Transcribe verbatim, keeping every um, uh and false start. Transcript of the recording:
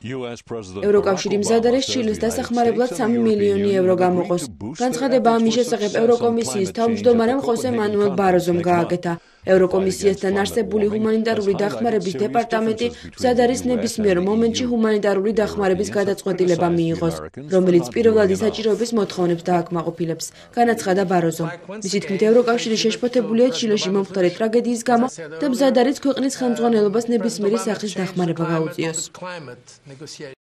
ევროკავშირი მზად არის ჩილეს დასახმარებლად სამი მილიონი ევრო გამოყოს. განცხადება ამის შესახებ ევროკომისიის თავმჯდომარემ ხოსე მანუელ ბაროზომ გააკეთა. ევროკომისიასთან არსებული ჰუმანიტარული დახმარების დეპარტამენტი მზად არის ნებისმიერ მომენტში ჰუმანიტარული დახმარების გადაწყვეტილება მიიღოს, რომელიც პირველადი საჭიროების მოთხოვნებს დააკმაყოფილებს, განაცხადა ბაროზომ. მისი თქმით, ევროკავშირი შეშფოთებულია ჩილეში მომხდარი ტრაგედიის გამო და მზად არის ქვეყნის ხელმძღვანელობას ნებისმიერი სახის დახმარება გაუწიოს.